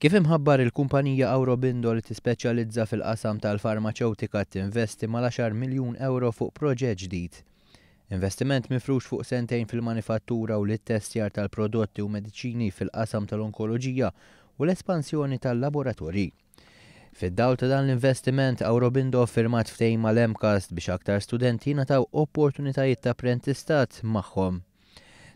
Kif imħabbar, il-kumpanija Aurobindo li tispeċjalizza fil-qasam tal-farmaċewtika tinvesti mal-10 miljun ewro fuq proġett ġdid. Investiment mifrux fuq sentejn fil-manifattura u l-ittestjar tal-prodotti u mediċini fil-qasam tal-onkoloġija u l-espansjoni tal-laboratorji. Fid-dawl ta' dan l-investiment, Aurobindo ffirmat ftehim mal-MCAST biex aktar studenti jingħataw opportunitajiet ta' apprentistat magħhom.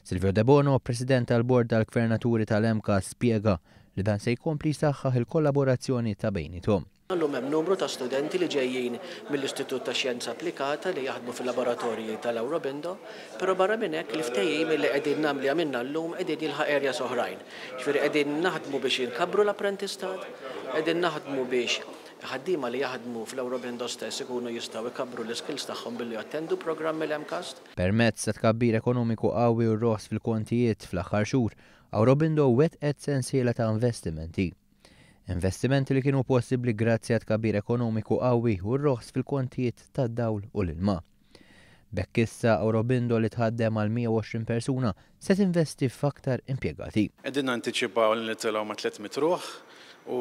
Silvio Debono, President tal-Bord tal-Gvernaturi tal-MCAST, spjega li dan se jkompli jsaħħaħ il-kollaborazzjoni ta' bejniethom. Illum hemm numru ta' studenti li ġejjin mill-Istitut ta' Xjenza Applikata li jaħdmu fil-laboratorji tal-Aurobindo, però barra minn hekk il-ftehim li qegħdin nagħmlu li għamilna llum qegħdin jilħaq areas oħrajn. Jiġifieri qegħdin naħdmu biex inkabbru l-apprentistat, qegħdin naħdmu biex ħaddiema li jaħdmu fl-Aurobindo stess ikunu jistgħu jkabbru l-iskills tagħhom billi jattendu programmi l-MCAST. Permezz ta' tkabbir ekonomiku qawwi u r-roħs fil-kontijiet fl-aħħar xhur, Aurobindo wettqet sensiela ta' investimenti. Investimenti li kienu possibbli grazzi għat-tkabbir ekonomiku qawwi u r-roħs fil-kontijiet tad-dawl u l-ilma. B'hekk issa Aurobindo li tħaddem għal 120 persuna se tinvesti f'aktar impjegati. Qegħdin nantiċipaw li nitilgħu ma' 300 ruħ u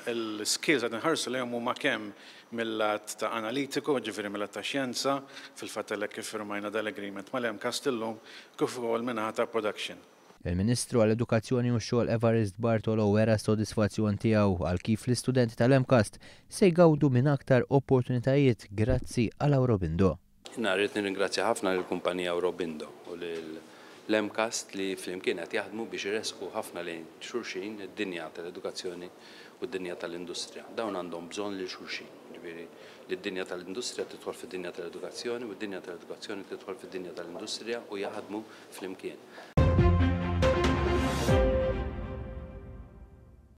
l-skills qed inħarsu lejhom huma kemm mil-lat ta' analitiku, jiġifieri mil-lat ta' xjenza, fil-fatt għalhekk iffirmajna dal-agreement mal-MCAST illum, kif ukoll min-naħa ta' production. Il-Ministru għall-Edukazzjoni u x-Xogħol Evarist Bartolo wera s-sodisfazzjon tiegħu għal kif l-istudenti tal-MCAST se jgawdu minn aktar opportunitajiet grazzi għal Aurobindo. Jiena rrid nirringrazzja ħafna lill-kumpanija Aurobindo u lill-MCAST li flimkien qed jaħdmu biex iressqu ħafna lejn xulxin id-dinja tal-edukazzjoni u d-dinja tal-industrija. Dawn għandhom bżonn lil xulxin, jiġifieri li d-dinja tal-industrija tidħol fid-dinja tal-edukazzjoni u d-dinja tal-edukazzjoni tidħol fid-dinja tal-industrija u jaħdmu flimkien.